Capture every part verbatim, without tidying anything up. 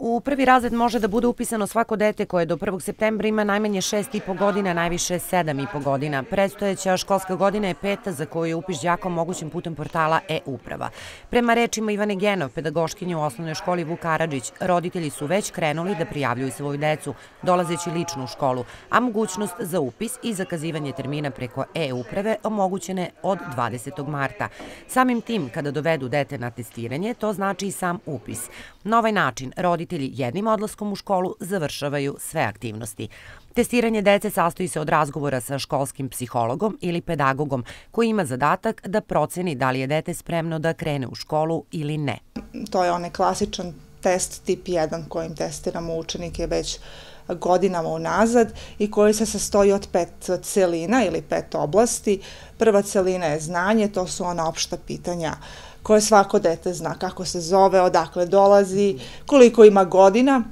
U prvi razred može da bude upisano svako dete koje do prvog septembra ima najmanje šest i po godina, najviše sedam i po godina. Predstojeća školska godina je peta za koju je upis đaka omogućen putem portala e-uprava. Prema rečima Ivane Genov, pedagoškinje u osnovnoj školi Vuk Karadžić, roditelji su već krenuli da prijavljuju svoju decu, dolazeći lično u školu, a mogućnost za upis i zakazivanje termina preko e-uprave omogućene od dvadesetog marta. Samim tim, kada dovedu dete na testiranje, to znači i sam upis. Na ovaj način, roditelji jednim odlaskom u školu završavaju sve aktivnosti. Testiranje dece sastoji se od razgovora sa školskim psihologom ili pedagogom koji ima zadatak da proceni da li je dete spremno da krene u školu ili ne. To je onaj klasičan test tip jedan kojim testiramo učenike već godinama unazad i koji se sastoji od pet celina ili pet oblasti. Prva celina je znanje, to su ona opšta pitanja koje svako dete zna, kako se zove, odakle dolazi, koliko ima godina.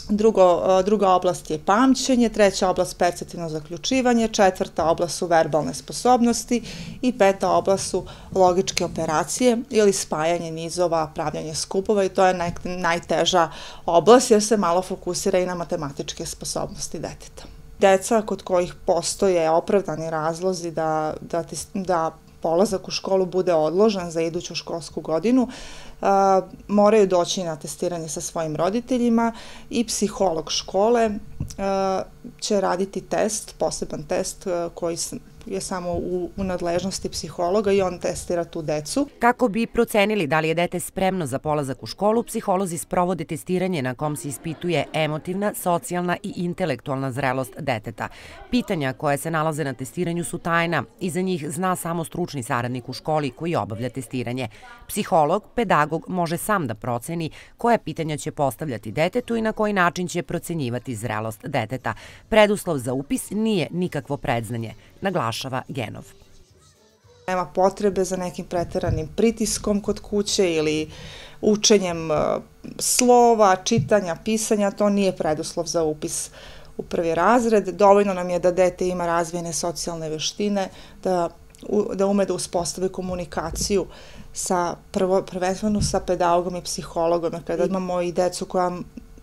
Drugo, druga oblast je pamćenje, treća oblast perceptivno zaključivanje, četvrta oblast su verbalne sposobnosti i peta oblast su logičke operacije ili spajanje nizova, pravljanje skupova i to je naj, najteža oblast jer se malo fokusira i na matematičke sposobnosti deteta. Deca kod kojih postoje opravdani razlozi da, da, da polazak u školu bude odložen za iduću školsku godinu, a, moraju doći na testiranje sa svojim roditeljima i psiholog škole a, će raditi test, poseban test a, koji je samo u, u nadležnosti psihologa i on testira tu decu. Kako bi procenili da li je dete spremno za polazak u školu, psiholozi sprovode testiranje na kom se ispituje emotivna, socijalna i intelektualna zrelost deteta. Pitanja koje se nalaze na testiranju su tajna i za njih zna samo stručni saradnik u školi koji obavlja testiranje. Psiholog, pedagog može sam da proceni koja pitanja će postavljati detetu i na koji način će procenjivati zrelost deteta. Preduslov za upis nije nikakvo predznanje, naglašava Genov. Nema potrebe za nekim preteranim pritiskom kod kuće ili učenjem slova, čitanja, pisanja, to nije preduslov za upis u prvi razred. Dovoljno nam je da dete ima razvijene socijalne veštine, da, da ume da uspostavi komunikaciju sa, prvo, prvenstveno sa pedagogom i psihologom. Kada imamo i decu koja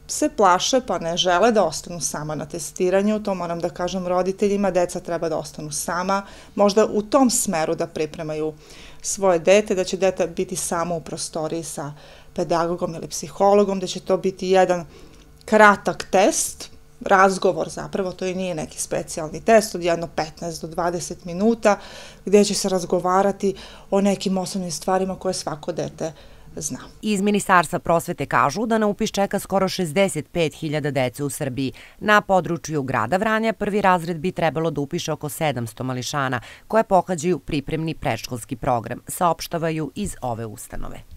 se plaše pa ne žele da ostanu sama na testiranju, to moram da kažem roditeljima, deca treba da ostanu sama, možda u tom smeru da pripremaju svoje dete, da će dete biti samo u prostoriji sa pedagogom ili psihologom, da će to biti jedan kratak test, razgovor zapravo, to i nije neki specijalni test od jedno petnaest do dvadeset minuta, gdje će se razgovarati o nekim osnovnim stvarima koje svako dete zna. Iz Ministarstva prosvete kažu da na upis čeka skoro šezdeset pet hiljada dece u Srbiji. Na području grada Vranja prvi razred bi trebalo da upiše oko sedamsto mališana koje pohađaju pripremni predškolski program, saopštavaju iz ove ustanove.